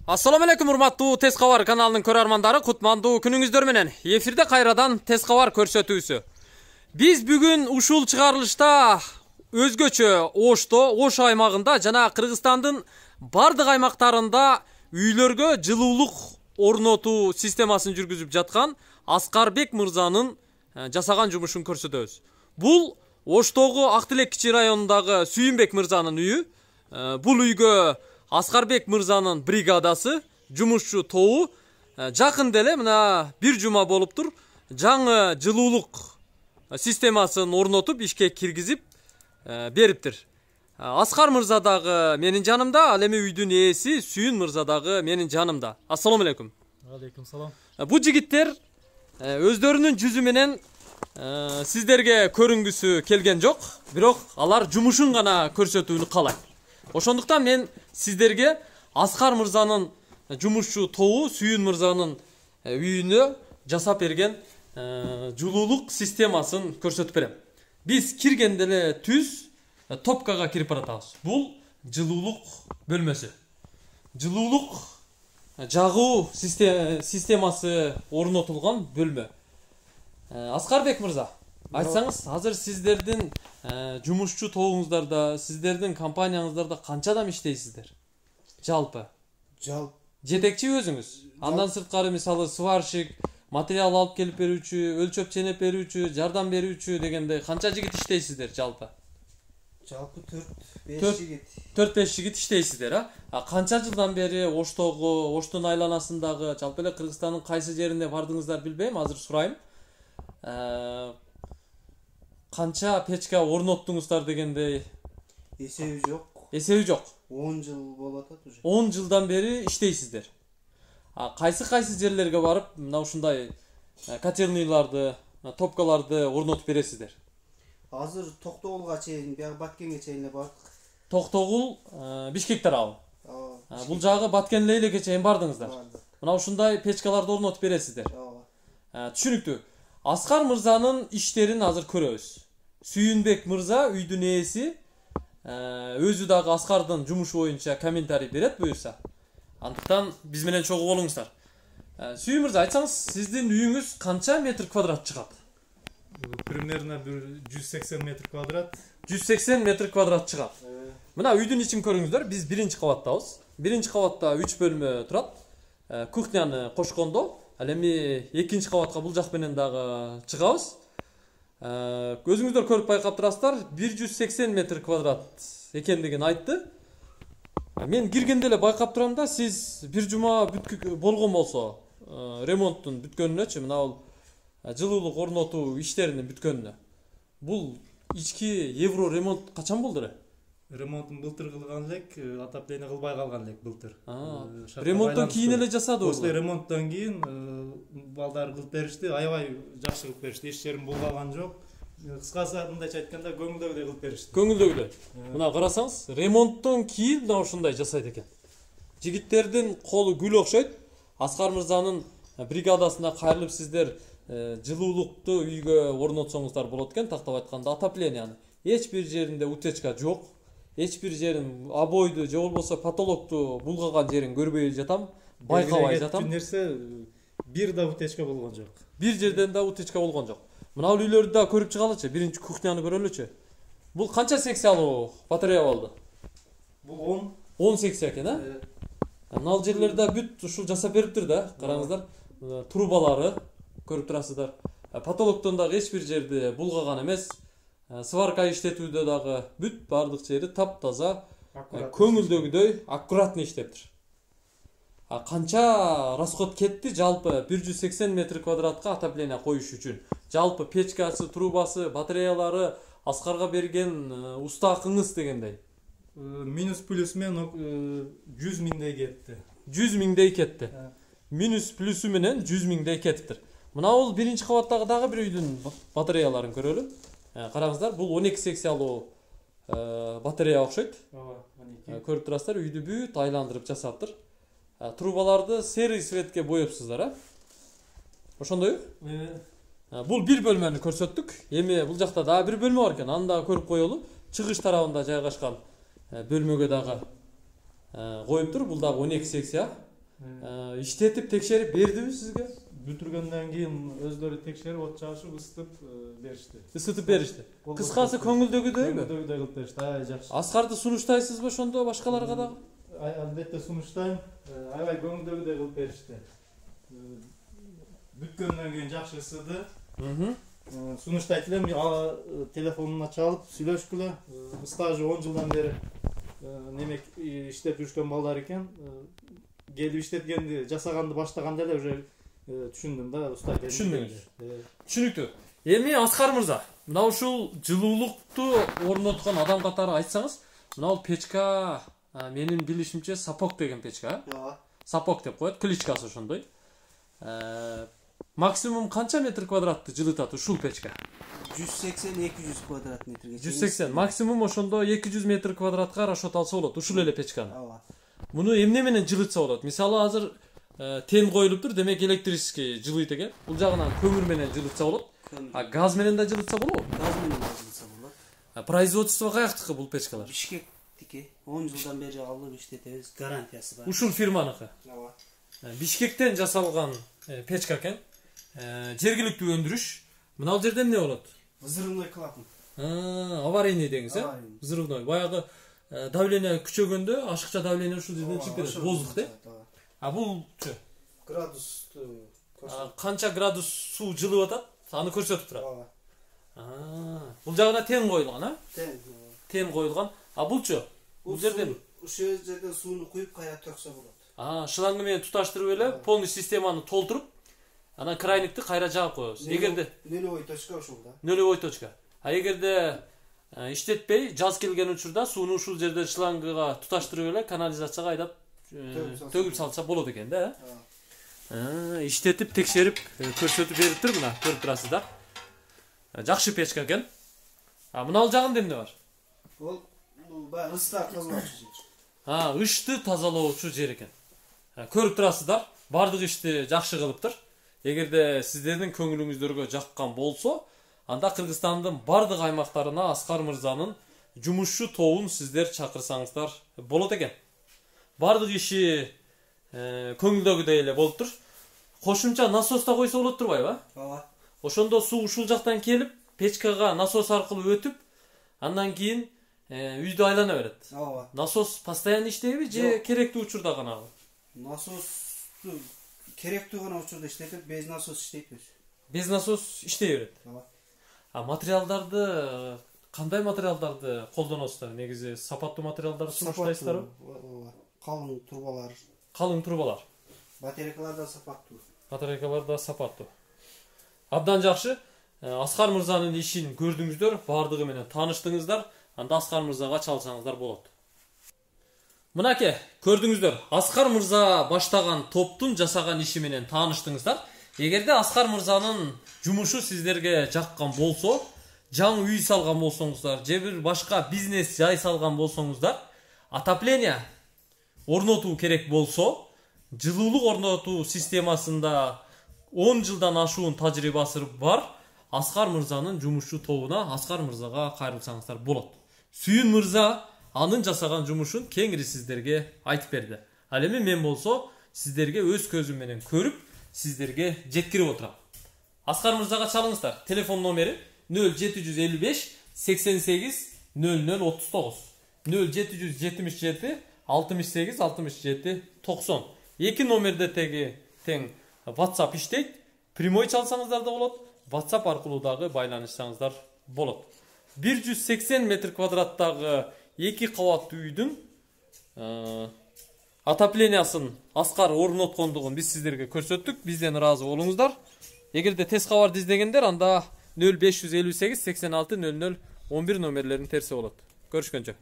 Assalamu alaikum урматтуу Тез кабар каналынын көрөрмандары, кутмандуу күнүңүздөр менен. Эфирде кайрадан Тез кабар көрсөтүүсү. Биз бүгүн ушул чыгарылышта өзгөчө Ош аймагында жана Кыргызстандын бардык аймактарында үйлөргө жылуулук орнотуу системасын жүргүзүп жаткан Аскарбек мырзанын жасаган жумушун көрсөтөбүз. Бул Оштогу Актилек кичи районундагы Сүйүнбек мырзанын үйү. Бул үйгө Аскарбек мырзанын бригадасы, жумушчу тобу жакын деле мына бир жума болуптур. Жаңы жылуулук системасын орнотуп, ишке киргизип бериптир. Аскар мырза дагы менин жанымда, ал эми үйдүн ээси Сүйүн мырза дагы менин жанымда. Ассаламу алейкум. Алейкум салам. Бу жигиттер өздөрүнүн жүзү менен сиздерге көрүнгүсү келген жок, бирок алар жумушун гана көрсөтүүнү каалайт. Ошондуктан мен сиздерге Аскар мырзанын жумушчу тобу Сүйүн мырзанын үйүнө жасап берген жылуулук системасын көрсөтүп берем. Биз киргенде эле түз топкага кирип баратабыз. Бул жылуулук бөлмөсү. Жылуулук жагуу системасы орнотулган бөлмө. Аскарбек мырза, айтсаңыз, азыр сиздердин жумушчу тобуңуздарда, сиздердин компанияңыздарда канча адам иштейсиздер? Жалпы. Жетекчи өзүңүз. Андан сырткары мисалы сварщик, материал алып келип берүүчү, өлчөп ченеп берүүчү, жардам берүүчү дегенде канча жигит иштейсиздер жалпы? Жалпы 4-5 жигит. 4-5 жигит иштейсиздер, Канча жылдан бери Оштогу, Оштун айланасындагы, жалпы эле Кыргызстандын кайсы жерине бардыңыздар билбейм, азыр сурайм. Канча печка орноттуңуздар дегендей? Эсеби жок. Эсеби жок. 10 жыл болуп атат уже. 10 жылдан бери иштейсиздер. Кайсы жерлерге барып, мына ушундай котельныйларды, топкаларды орнотуп бересиздер? Азыр Токтогулга чейин, бияк Баткенге чейин эле бардык. Токтогул, Бишкек тарабы. Бул жагы Баткен Лейлекке чейин бардыңыздар. Мына ушундай печкаларды орнотуп бересиздер. Түшүнүктүү. Аскар мырзанын иштерин азыр көрөбүз. Сүйүнбек мырза үйдүн ээси, өзү дагы Аскардын жумушу боюнча комментарий берет буюрса. Андыктан биз менен чогуу болуңуздар. Сүйүн мырза, айтсаңыз, сиздин үйүңүз канча метр квадрат чыгат? Примерно 180 метр квадрат. 180 метр квадрат чыгат. Мына үйдүн ичин көрүңүздөр. Биз биринчи кабаттабыз. Биринчи кабатта 3 бөлмө турат. Кухняны кошкондо, ал эми экинчи кабатка бул жак менен дагы чыгабыз. Өзүңүздөр көрүп байкап турасыздар, 180 метр квадрат экендигин айтты. Мен киргенде эле байкап турам да, сиз бир жума болгон болсо, ремонттун бүткөнүнөчү, мына бул жылуулук орнотуу иштеринин бүткөнүнө. Бул ички евро ремонт качан болду эле? Ремонтун былтыр кылган элек, отопление кылбай калган элек былтыр. Ремонттон кийин эле жасады После ремонттон кийин балдар кылып беришти, аябай жакшы кылып беришти. Эч жерин булгаган жок. Кыскасы мындайча айтканда көңүлдөгүдөй кылып беришти. Көңүлдөгүдөй. Мына карасаңыз, ремонттон кийин мына ушундай жасайт экен. Жигиттердин колу гүл окшойт. Аскар мырзанын бригадасына кайрылып сиздер жылуулукту үйгө орнотсоңуздар болот экен, тактап айтканда отопленияны. Эч бир жеринде утечка жок. Эч бир жерин обойду же болбосо потолокту булгаган жерин көрбөй жатам, байкабай жатам. Нерсе бир да утечка болгон жок. Бир жерден да утечка болгон жок. Мына бул үйлөрдү да көрүп чыгалычы, биринчи кухняны көрөлүчү. Бул канча секциялуу батарея болду? Бул 10 секция экен, Мына жерлерде бүт ушул жасап бериптир да, караңыздар. Трубалары көрүп турасыздар. Потолоктон дагы эч бир жерди булгаган эмес. Сварка иштетүүдө дагы бүт бардык жери таптаза, көңүлдөгүдөй аккуратный иштептир. Канча расход кетти жалпы 180 метр квадратка отопление коюш үчүн? Жалпы печкасы, трубасы, батареялары, Аскарга берген уста акыңыз дегендей. Минус плюс менен 100 миңдей кетти. 100 миңдей кетти. Минус плюсу менен 100 миңдей кетиптир. Мына бул биринчи кабаттагы дагы бир үйдүн батареяларын көрөлү. Караңыздар, бул 12 секциялуу батарея окшойт. Көрүп турасыздар, үйдү бүт айландырып жасаптыр. Трубаларды серый цветке боепсуздар, Ошондойбу? Бул бир бөлмөнү көрсөттүк. Эми бул жакта дагы бир бөлмө бар экен. Аны дагы көрүп коелу. Чыгыш тарабында жайгашкан бөлмөгө дагы коюптур. Бул дагы 12 секция. иштетип текшерип бердиби сизге? Бүтүргөндөн кийин өздөрү текшерип, от чагышып, ысытып беришти. Кыскасы көңүлдөгүдөйбү? Көңүлдөгүдөй кылып беришти. Аябай жакшы. Аскарды сунуштайсызбы ошондо башкаларга дагы? Албетте сунуштайм. Аябай көңүлдөгүдөй кылып беришти. Бүткөндөн кийин жакшы ысыды. Сунуштайт элем, телефонуна чалып сүйлөшкүлө. Стажы 10 жылдан бери немек иштеп жүргөн балдар экен. Келип иштеткенди, жасаганды баштаганда эле уже түшүндүм да, уста экенин. Түшүндүңүз. Түшүнүктүү. Эми Аскар мырза, мына ушул жылуулукту орноткон адам катары айтсаңыз, мына бул печка менин билишимче сапок деген печка. Ооба. Сапок деп коет, кличкасы ошондой. Максимум канча метр квадратты жылытат ушул печка? 180-200 квадрат метрге. 180. Максимум ошондо 200 метр квадратка карашот алса болот, ушул эле печканы. Ооба. Муну эмне менен жылытса болот? Мисалы азыр тен коюлуптур, демек электрический жылыйт экен. Бул жагынан көмүр менен жылытса болот. А газ менен да жылытса болобу? Газ менен да жылытса болот. Производство каяктыкы бул печкалар? Бишкектики. 10 жылдан бери алып иштетебиз, гарантиясы бар. Ушул фирманыкы. Ооба. Бишкектен жасалган печка экен. Жергиликтүү өндүрүш. Мына бул жерде эмне болот? Взрывной клапан. Аварийный деңиз, э? Взрывной. Баягы давление күчөгөндө, ашыкча давление ушул жерден чыгып кетет. Воздух, да? А булчу? Градусту канча градус суу жылып атат? Аны көрсөтүп турат. Ооба. Бул жагына тен коюлган, а? Тен коюлган. А булчу? Бул жерден ушул жерден сууну куюп кайра төксө болот. Шланг менен туташтырып эле полностью системаны толтуруп, анан крайникти кайра жаап коебуз. Эгерде нулевой точка ушул да. Нулевой точка. А эгерде иштетпей, жаз келген учурда сууну ушул жерден шлангыга туташтырып эле канализацияга айдап төгүп салса болот экен да. Иштетип, текшерип, көрсөтүп бериптир мына, көрүп турасыздар. Жакшы печка экен. Мына ал жагында эмне бар? Бул баягы ысты тазалоочу жер. Ышты тазалоочу жер экен. Көрүп турасыздар, бардык ишти жакшы кылыптыр. Эгерде сиздердин көңүлүңүздөргө жаккан болсо, анда Кыргызстандын бардык аймактарына Аскар мырзанын жумушчу тобун сиздер чакырсаңыздар болот экен. Бардык иши көңүлдөгүдөй эле болуптур. Кошумча насос да койсо болот турбайбы? Ооба. Ошондо суу ушул жактан келип, печкага насос аркылуу өтүп, андан кийин үйдү айлана берет. Ооба. Насос постоянно иштейби же керектүү учурда гана? Насосту керектүү гана учурда иштетип, без насос иштейбиз. Без насос иштей берет. Ооба. Материалдарды кандай материалдарды колдоносуздар? Негизи сапаттуу материалдарды сунуштайсыздарбы? Ооба. Калың трубалар. Калың трубалар. Батарейкалар да сапаттуу. Батарейкалар да сапаттуу. Абдан жакшы. Аскар мырзанын ишин көрдүңүздөр, бардыгы менен тааныштыңыздар. Анда Аскар мырзага чалсаңыздар болот. Мынаке, көрдүңүздөр. Аскар мырза баштаган топтун жасаган иши менен тааныштыңыздар. Эгерде Аскар мырзанын жумушу сиздерге жаккан болсо, жаңы үй салган болсоңуздар, же бир башка бизнес жай салган болсоңуздар, отопление орнотуу керек болсо, жылуулук орнотуу системасында 10 жылдан ашуун тажрыйбасы бар Аскар мырзанын жумушчу тобуна Аскар мырзага кайрылсаңыздар болот. Сүйүн мырза анын жасаган жумушун кеңири сиздерге айтып берди. Ал эми мен болсо сиздерге өз көзүм менен көрүп, сиздерге жеткирип отурам. Аскар мырзага чалыңыздар. Телефон номери 0755 88 0039. 0777 68 67 90. Эки номерде тең WhatsApp иштейт. Прямой чалсаңыздар да болот. WhatsApp аркылуу дагы байланышсаңыздар болот. 180 метр квадраттагы 2 кабаттуу үйдүн отоплениясын Аскар орноткондугун биз сиздерге көрсөттүк. Бизден ыраазы болуңуздар. Эгерде тез кабарды издегендер, анда 0558 86 00 11 номерлерин терсе болот. Көрүшкөнчө.